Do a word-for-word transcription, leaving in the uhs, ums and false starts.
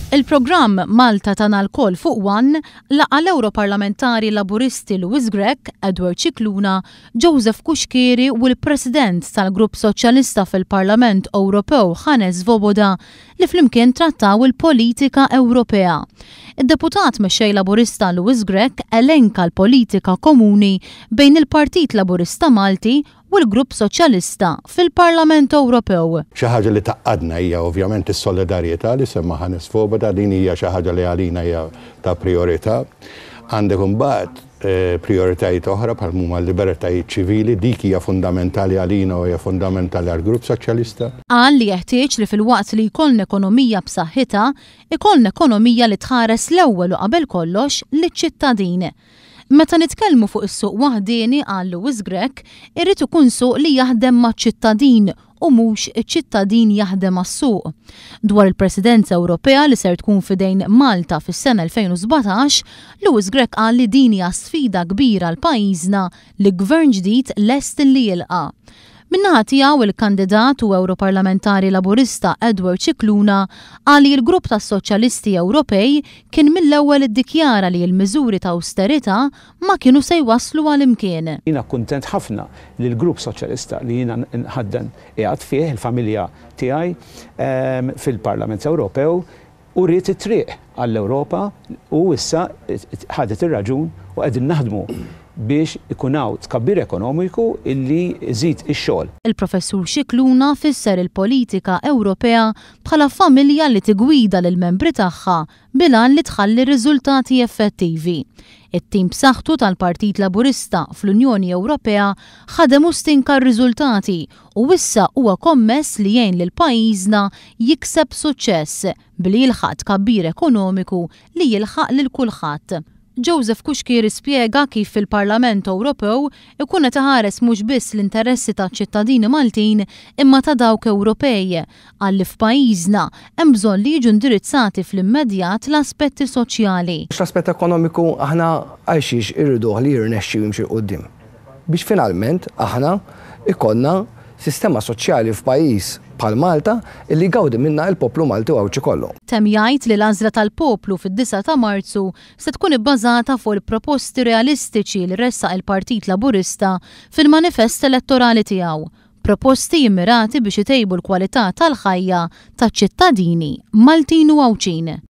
Il-programm Malta Tagħna Lkoll fuq One laqa' l-Ewroparlamentari Laburisti Louis Grech, Edward Scicluna, Joseph Cuschieri u l-President tal-Grupp Soċjalista fil-Parlament Ewropew Hannes Swoboda li flimkien trattaw il-politika Ewropea. Id-deputat mexxej Laburista Louis Grech elenka l-politika komuni bejn il-Partit Laburista Malti u l-Grupp Soċjalista fil-Parlament Ewropew. Xi ħaġa li tgħaqqadna hija ovvjament is-solidarjetà li semma Hannes Swoboda, din hija xi ħaġa li għalina hija ta' priorità. Għandek imbagħad eh, prioritajiet oħra bħal huma l-libertajiet ċivili, dik hija fundamentali għalina u hija fundamentali għall-Grupp Soċjalista. Qal li jeħtieġ li filwaqt li jkollna ekonomija b'saħħitha, ikollna ekonomija li tħares l-ewwel u qabel kollox liċ-ċittadin. Meta nitkellmu fuq is-suq waħdieni, qal Louis Grech, irid ikun suq li jaħdem maċ-ċittadin u mhux iċ-ċittadin jaħdem għas-suq. Dwar il-Presidenza Ewropea li ser tkun fidejn Malta fis-sena elfejn u sbatax, Louis Grech qal li din hija sfida kbira għal pajjiżna li gvern ġdid lest li jilqa'. Min-naħa tiegħu, il-kandidat u Ewroparlamentari Laburista Edward Scicluna qal li l-grupp tas-Soċjalisti Ewropej kien mill-ewwel iddikjara li l-miżuri ta' austerità ma kienu se jwasslu għal imkien. Jiena kuntent ħafna li l-grupp Soċjalista li jiena nħaddan qiegħed fih il-familja tiegħi ehm, fil-Parlament Ewropew u wriet it-triq għall-Ewropa u issa ħadet ir-raġun u qegħdin naħdmu biex ikun hawn tkabbir ekonomiku illi jżid ix-xogħol. Il-Professur Scicluna fisser il-politika Ewropea bħala familja li tigwida lil membri tagħha bil-għan li tħalli riżultati effettivi. It-tim b'saħħtu tal-Partit Laburista fl-Unjoni Ewropea ħadem u stinka r-riżultati u issa huwa kommess li jgħin lil pajjiżna jikseb suċċess billi jilħaq tkabbir ekonomiku li jilħaq lil kulħadd. Joseph Cuschieri spjega kif fil-Parlament Ewropew ikun qed iħares mhux biss l-interessi taċ-ċittadini Maltin imma ta' dawk Ewropej, qal li f'pajjiżna hemm bżonn li jiġu indirizzati fl-immedjat l-aspetti soċjali. L-aspett ekonomiku aħna għalxiex irriduh li jirnexxi u jimxi 'l quddiem? Biex finalment aħna ikollna sistema soċjali f'pajjiż bħal Malta illi jgawdi minna il-poplu Malti u Għawdxi kollu. Temm jgħid li l-għażla tal-poplu fid-disgħa ta' Marzu se tkun ibbażata fuq il-proposti realistiċi li ressaq il-Partit Laburista fil-manifest elettorali tiegħu. Proposti immirati biex itejbu l-kwalità tal-ħajja taċ-ċittadini Maltin u Għawdxin.